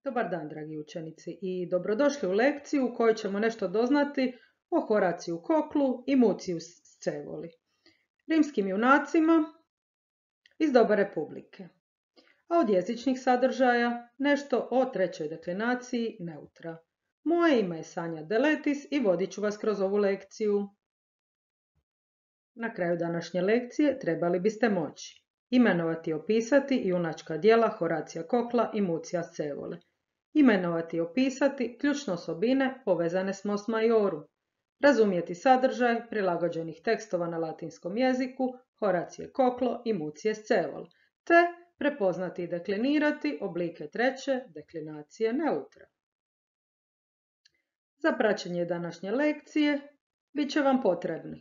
Dobar dan, dragi učenici, i dobrodošli u lekciju u kojoj ćemo nešto doznati o Horaciju Koklu i Muciju Scevoli, rimskim junacima iz doba Republike. A od jezičnih sadržaja nešto o trećoj deklinaciji neutra. Moje ime je Sanja Deletis i vodit ću vas kroz ovu lekciju. Na kraju današnje lekcije trebali biste moći imenovati i opisati junačka djela Horacija Kokla i Mucija Scevole. Imenovati i opisati ključne osobine povezane s Mos Maiorum. Razumjeti sadržaj prilagođenih tekstova na latinskom jeziku Horacije Koklo i Mucije Scevole, te prepoznati i deklinirati oblike treće deklinacije neutra. Za praćenje današnje lekcije bit će vam potrebni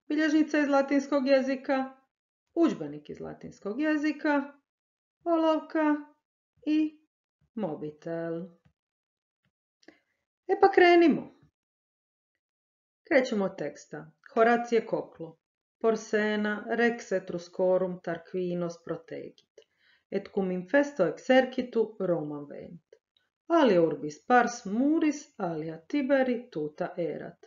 bilježnica iz latinskog jezika, udžbenik iz latinskog jezika, olovka i mobitel. Pa krenimo. Krećemo od teksta. Horacije Koklo. Porsena rex Etruscorum Tarquinos protegit, et cum infesto exercitu Romam venit. Alia urbis pars muris, alia Tiberi tuta erat.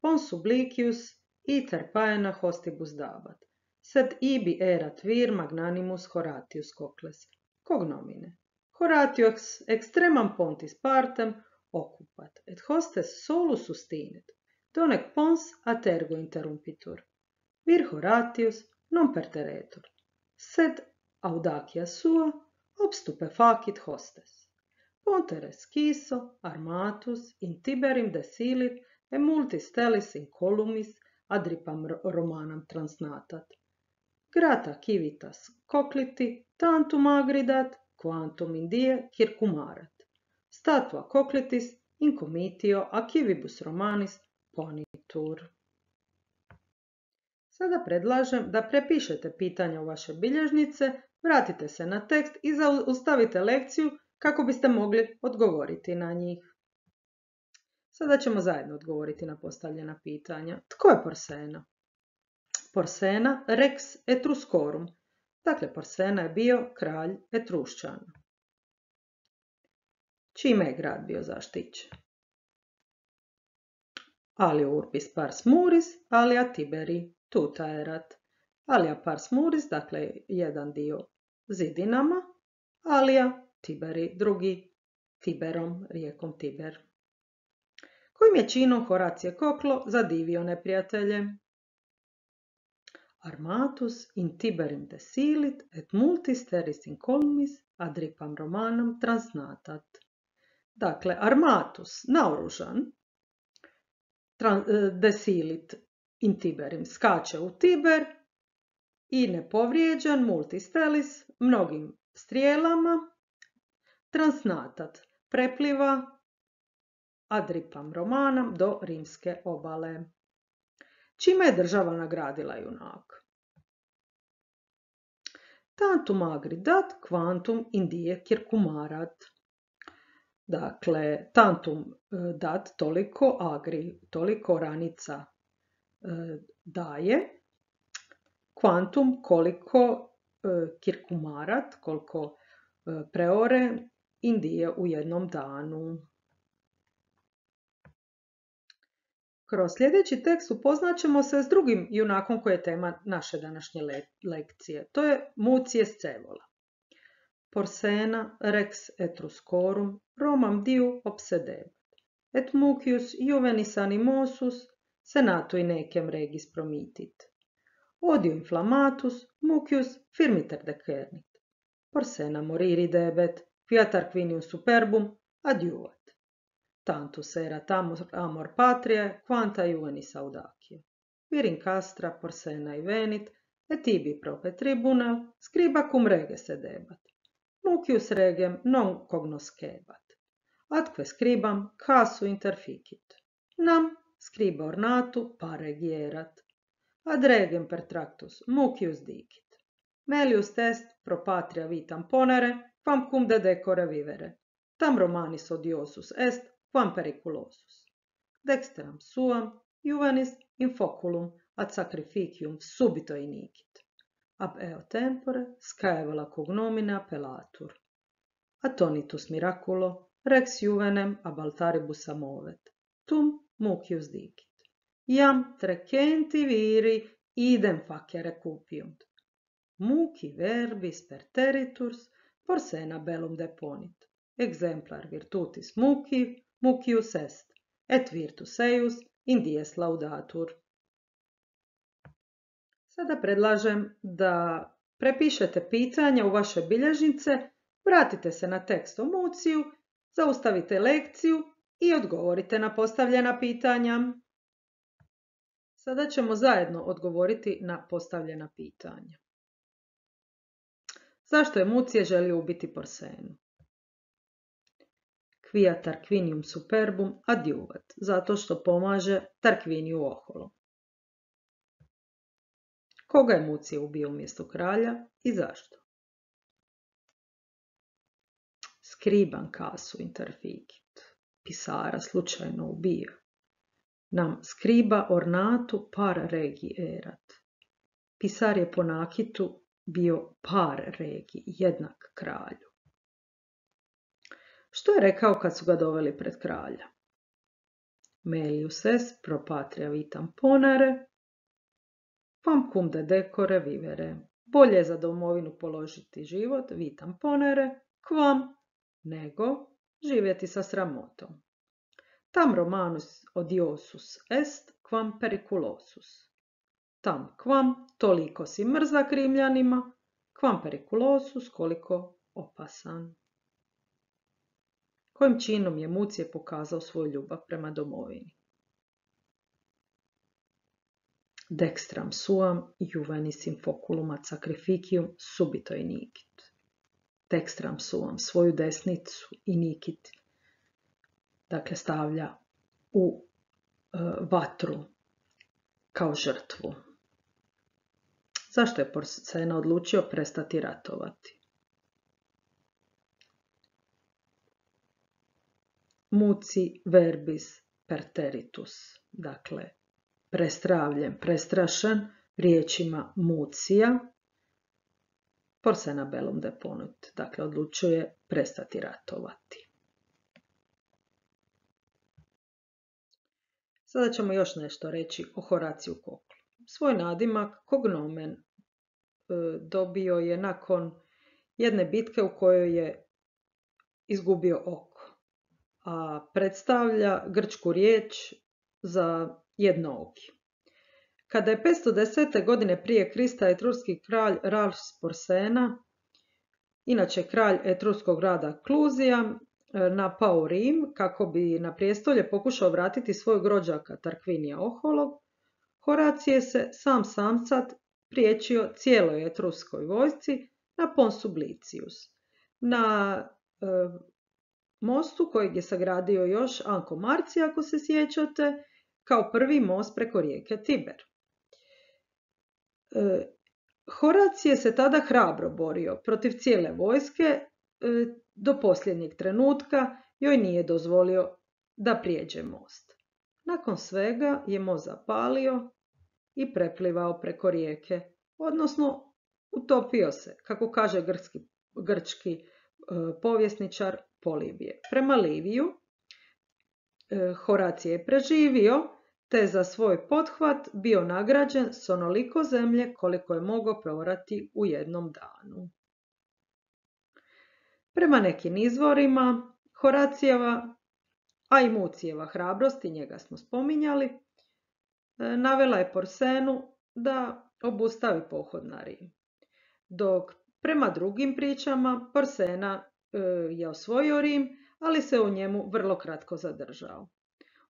Pons sublicius iter paena hostibus dabat. Sed ibi erat vir magnanimus Horatius Kokles. Cognomine. Horatius extremam pontis partem occupat, et hostes solus sustinet, donec pons ad ergo interrumpitur. Vir Horatius non perteretur, sed audacia sua obstupe facit hostes. Pontere sciso armatus in Tiberim desilit e multis stellis in columis adripam Romanam transnatat. Grata civitas Cocliti tantum agridat quantum in die circumarat. Statua Coclitis in comitio a civibus Romanis ponitur. Sada predlažem da prepišete pitanja u vaše bilježnice, vratite se na tekst i zaustavite lekciju kako biste mogli odgovoriti na njih. Sada ćemo zajedno odgovoriti na postavljena pitanja. Tko je Porsena? Porsena rex Etruscorum. Dakle, Porsena je bio kralj Etrušćana. Čime je grad bio zaštićen? Alia urbis pars muris, alia Tiberi tuta erat. Alia pars muris, dakle jedan dio zidinama, alia Tiberi, drugi Tiberom, rijekom Tiber. Kojim je činom Horacije Koklo zadivio neprijatelje? Armatus in Tiberim desilit et multis terris in colmis adripam Romanam transnatat. Dakle, Armatus, naoružan, desilit in Tiberim, skače u Tiber i nepovrijeđen, multis terris, mnogim strijelama, transnatat, prepliva adripam Romanam do rimske obale. Čime je država nagradila junaka? Tantum agri dat, quantum in die circumarat. Dakle, tantum dat, toliko agri, toliko oranica daje, quantum koliko circumarat, koliko preore in die u jednom danu. Kroz sljedeći tekst upoznaćemo se s drugim junakom koji je tema naše današnje lekcije. To je Mucije Scevola. Porsena rex Etruscorum Romam diu obsedebat, et Mucius juvenis animosus senatui necem regis promitit. Odio inflammatus Mucius firmiter decernit. Porsena moriri debet, fiat Tarquinium superbum adiuvat. Tantus erat amor patriae, quanta juvenis audacia. Vir in castra Porsena venit, et ibi prope tribunal, scriba cum rege sedebat. Mucius regem non cognoscebat. Atque scribam casu interficit. Nam scriba ornatu paregi erat. Ad regem pertractus Mucius dicit. Melius est pro patria vitam ponere, quam cum de decore vivere. Tam Romanis odiosus est, quam periculosus. Dexteram suam, juvenis in foculum ad sacrificium subito inicit. Ab eo tempore scaevola cognomina appellatur. atonitus miraculo, rex juvenem abaltaribus amovet, tum mucius dicit. Iam trecenti viri idem facere cupiunt. Muci verbis perteriturs Porsena bellum deponit. Exemplar virtutis mucius est, et virtus eius in dies laudatur. Sada predlažem da prepišete pitanja u vaše bilježnice, vratite se na tekst o muciju, zaustavite lekciju i odgovorite na postavljena pitanja. Sada ćemo zajedno odgovoriti na postavljena pitanja. Zašto je Mucije želio ubiti Porsenu? Quia Tarquinium superbum adjuvat, zato što pomaže Tarquiniju oholom. Koga je Mucije ubio umjesto kralja i zašto? Scriban casu interficit, pisara slučajno ubio. Nam scriba ornatu par regi erat. Pisar je po nakitu bio par regi, jednak kralju. Što je rekao kad su ga doveli pred kralja? Melius est pro patria vitam ponere, quam cum de decore vivere. Bolje je za domovinu položiti život, vitam ponere, quam, nego živjeti sa sramotom. Tam romanus odiosus est, quam periculosus. Tam quam toliko si mrzak Rimljanima, quam periculosus koliko opasan. Kojim činom je Mucije pokazao svoju ljubav prema domovini? Dextram suam juvenis in foculum ad sacrificium subito inicit. Dextram suam, svoju desnicu inicit, dakle stavlja u vatru kao žrtvu. Zašto je Porsena odlučio prestati ratovati? Muci verbis perteritus, dakle prestravljen, prestrašen riječima Mucija, Porsena bellum deponit, dakle odlučuje prestati ratovati. Sada ćemo još nešto reći o Horaciju Koklu. Svoj nadimak cognomen dobio je nakon jedne bitke u kojoj je izgubio oko, a predstavlja grčku riječ za jednooki. Kada je 510. godine prije Krista etruski kralj Ralf Porsena, inače kralj etruskog grada Kluzija, napao Rim kako bi na prijestolje pokušao vratiti svojeg rođaka Tarquinija oholog, Horacije se sam samcat priječio cijeloj etruskoj vojsci na Pons Sublicius, na mostu kojeg je sagradio još Anko Marci, ako se sjećate, kao prvi most preko rijeke Tiber. Horacije se tada hrabro borio protiv cijele vojske, do posljednjeg trenutka joj nije dozvolio da prijeđe most. Nakon svega je most zapalio i preplivao preko rijeke, odnosno utopio se, kako kaže grčki povjesničar Polibije. Prema Liviju, Horacije je preživio, te za svoj pothvat bio nagrađen s onoliko zemlje koliko je mogao proorati u jednom danu. Prema nekim izvorima, Horacijeva, a i Mucijeva hrabrost, i njega smo spominjali, navela je Porsenu da obustavi pohod na Rim. Dok prema drugim pričama Porsena je osvojio Rim, ali se u njemu vrlo kratko zadržao.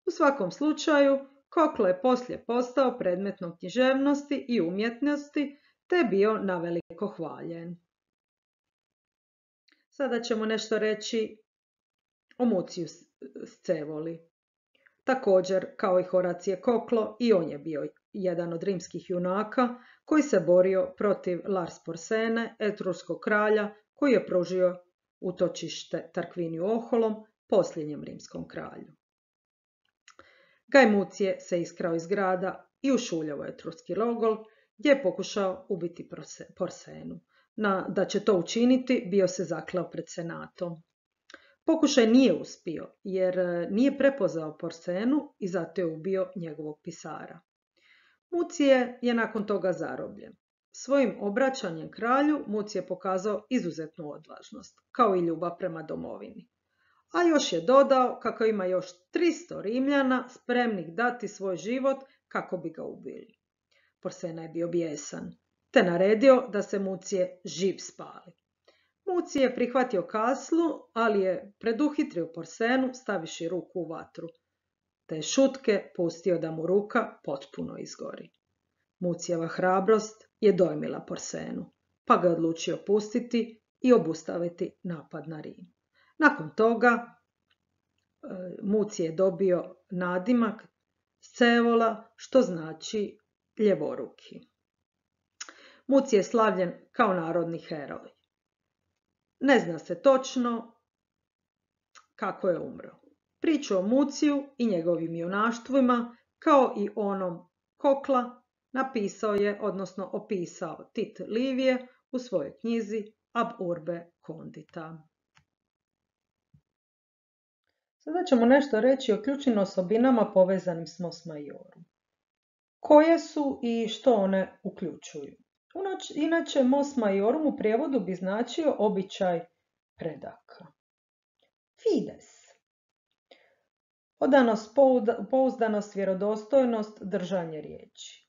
U svakom slučaju, Koklo je poslije postao predmetom književnosti i umjetnosti, te je bio naveliko hvaljen. Sada ćemo nešto reći o Muciju Scevoli. Također, kao i Horacije Koklo, i on je bio jedan od rimskih junaka koji se borio protiv Lars Porsene, etruskog kralja, koji je pružio utočište Tarquiniju oholom, posljednjem rimskom kralju. Gaj Mucije se iskrao iz grada i ušuljao etruski logor, gdje je pokušao ubiti Porsenu. Da će to učiniti, bio se zakleo pred senatom. Pokušaj nije uspio jer nije prepoznao Porsenu i zato je ubio njegovog pisara. Mucije je nakon toga zarobljen. Svojim obraćanjem kralju Mucije je pokazao izuzetnu odvažnost, kao i ljubav prema domovini. A još je dodao kako ima još 300 Rimljana spremnih dati svoj život kako bi ga ubili. Porsena je bio bijesan, te naredio da se Mucije živ spali. Mucije je prihvatio kaslu, ali je preduhitrio Porsenu staviši ruku u vatru, te je šutke pustio da mu ruka potpuno izgori. Mucijeva hrabrost je dojmila Porsenu, pa ga je odlučio pustiti i obustaviti napad na Rim. Nakon toga Mucije je dobio nadimak Scevola, što znači ljevoruki. Mucije je slavljen kao narodni heroj. Ne zna se točno kako je umro. Priču o Muciju i njegovim junaštvima, kao i onom Kokla, napisao je, odnosno opisao Tit Livije u svojoj knjizi Ab urbe condita. Sada ćemo nešto reći o ključnim osobinama povezanim s Mos Maiorum. Koje su i što one uključuju? Inače, Mos Maiorum u prijevodu bi značio običaj predaka. Fides. Odanost, pouzdanost, vjerodostojnost, držanje riječi.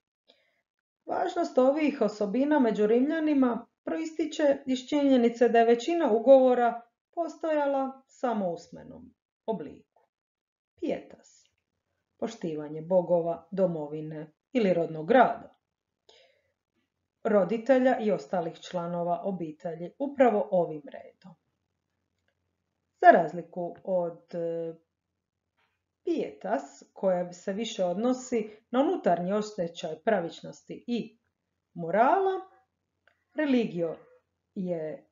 Važnost ovih osobina među Rimljanima proističe iz činjenice da je većina ugovora postojala samo u usmenom obliku. Pietas. Poštivanje bogova, domovine ili rodnog grada, roditelja i ostalih članova obitelji upravo ovim redom. Za razliku od pietas, koja se više odnosi na unutarnji osjećaj pravičnosti i morala, religio je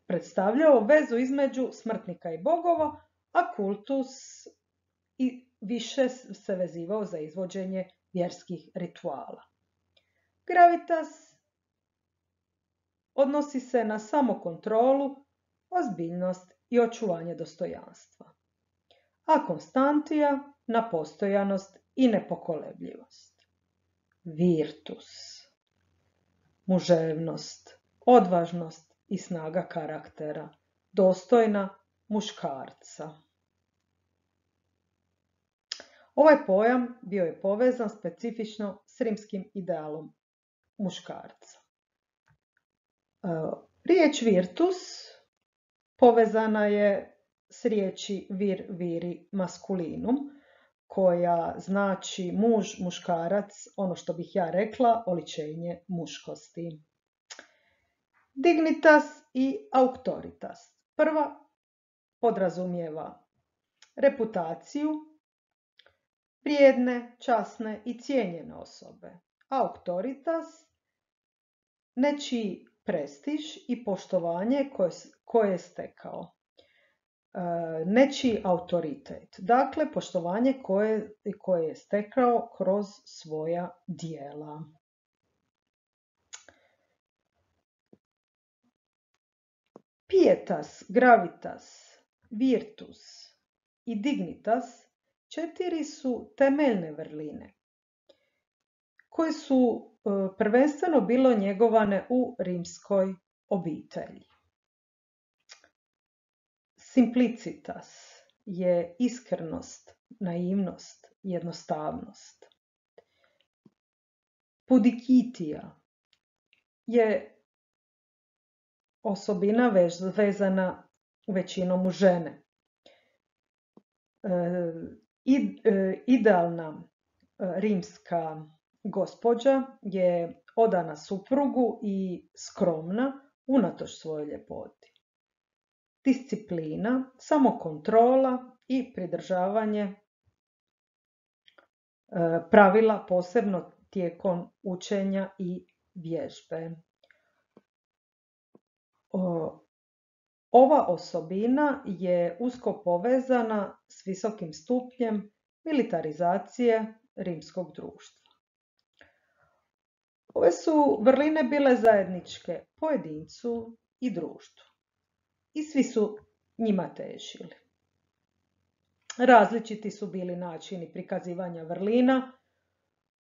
predstavljao vezu između smrtnika i bogova, a kultus i više se vezivao za izvođenje vjerskih rituala. Gravitas odnosi se na samokontrolu, ozbiljnost i očuvanje dostojanstva, a Konstantija na postojanost i nepokolebljivost. Virtus, muževnost, odvažnost i snaga karaktera, dostojna muškarca. Ovaj pojam bio je povezan specifično s rimskim idealom muškarca. Riječ virtus povezana je s riječi vir viri masculinum, koja znači muž, muškarac, ono što bih ja rekla, oličenje muškosti. Dignitas i auctoritas. Prva podrazumijeva reputaciju, vrijedne, časne i cijenjene osobe. Auctoritas nečiji prestiž i poštovanje koje je stekao. Nečiji autoritet. Dakle, poštovanje koje je stekao kroz svoja djela. Pietas, gravitas, virtus i dignitas 4 su temeljne vrline koje su prvenstveno bilo njegovane u rimskoj obitelji. Simplicitas je iskrenost, naivnost, jednostavnost. Pudicitija je osobina vezana većinom u žene. Idealna rimska gospođa je odana suprugu i skromna unatoč svojoj ljepoti. Disciplina, samokontrola i pridržavanje pravila, posebno tijekom učenja i vježbe. Ova osobina je usko povezana s visokim stupnjem militarizacije rimskog društva. Ove su vrline bile zajedničke pojedincu i društvu. I svi su njima težili. Različiti su bili načini prikazivanja vrlina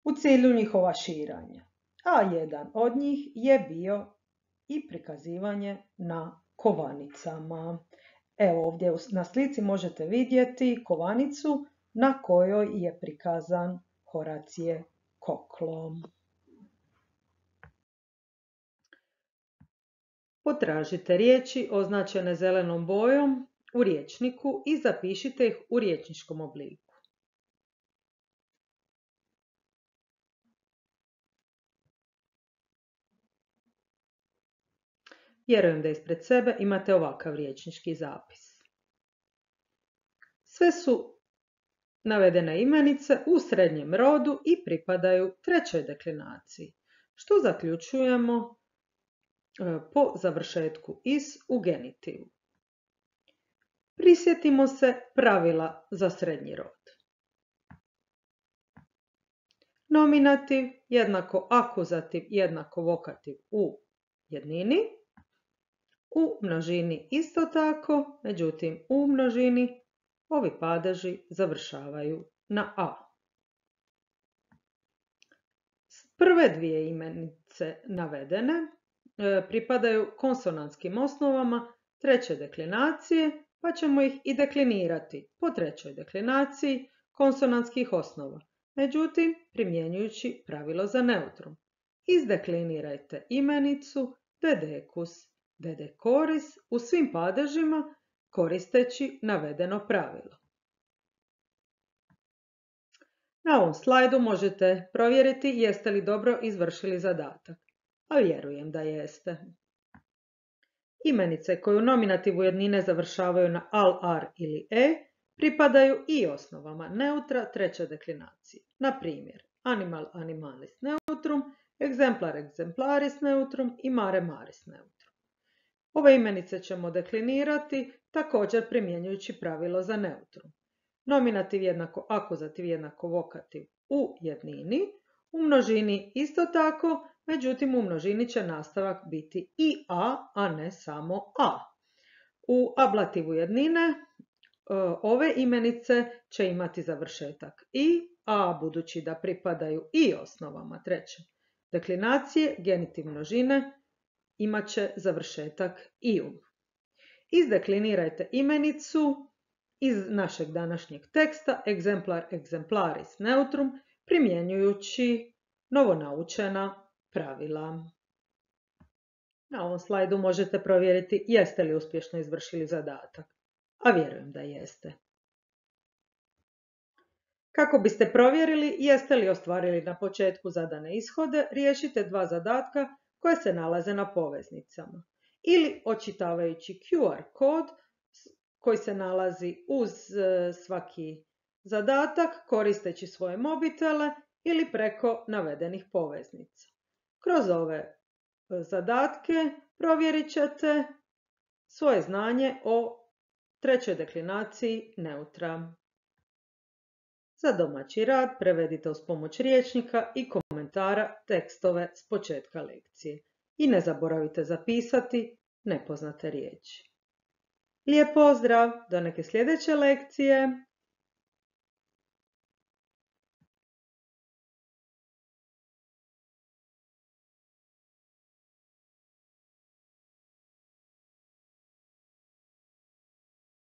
u cilju njihova širanja, a jedan od njih je bio i prikazivanje na kovanicama. Evo ovdje na slici možete vidjeti kovanicu na kojoj je prikazan Horacije Koklo. Potražite riječi označene zelenom bojom u rječniku i zapišite ih u rječničkom obliku. Vjerujem da ispred sebe imate ovakav rječnički zapis. Sve su navedene imenice u srednjem rodu i pripadaju trećoj deklinaciji, što zaključujemo po završetku is u genitivu. Prisjetimo se pravila za srednji rod. Nominativ jednako akuzativ jednako vokativ u jednini, u množini isto tako, međutim u množini ovi padeži završavaju na a. Prve dvije imenice navedene pripadaju konsonantskim osnovama treće deklinacije, pa ćemo ih i deklinirati po trećoj deklinaciji konsonantskih osnova, međutim primjenjujući pravilo za neutrum. Izdeklinirajte imenicu dedekus, dedekoris u svim padežima koristeći navedeno pravilo. Na ovom slajdu možete provjeriti jeste li dobro izvršili zadatak, a vjerujem da jeste. Imenice koje u nominativu jednine završavaju na al, ar ili e pripadaju i osnovama neutra treće deklinacije. Na primjer, animal, animalis neutrum, exemplar, exemplaris neutrum i mare, maris neutrum. Ove imenice ćemo deklinirati također primjenjujući pravilo za neutrum. Nominativ jednako akuzativ jednako vokativ u jednini, u množini isto tako, međutim u množini će nastavak biti i a ne samo a. U ablativu jednine ove imenice će imati završetak i, a budući da pripadaju i osnovama treće deklinacije, genitiv množine imat će završetak ium. Izdeklinirajte imenicu iz našeg današnjeg teksta exemplar, exemplaris neutrum primjenjujući novonaučena pravila. Na ovom slajdu možete provjeriti jeste li uspješno izvršili zadatak, a vjerujem da jeste. Kako biste provjerili jeste li ostvarili na početku zadane ishode, riješite dva zadatka koje se nalaze na poveznicama. Ili očitavajući QR kod koji se nalazi uz svaki zadatak koristeći svoje mobitele ili preko navedenih poveznica. Kroz ove zadatke provjerit ćete svoje znanje o trećoj deklinaciji neutra. Za domaći rad prevedite uz pomoć rječnika i komentara tekstove s početka lekcije. I ne zaboravite zapisati nepoznate riječi. Lijep pozdrav, do neke sljedeće lekcije!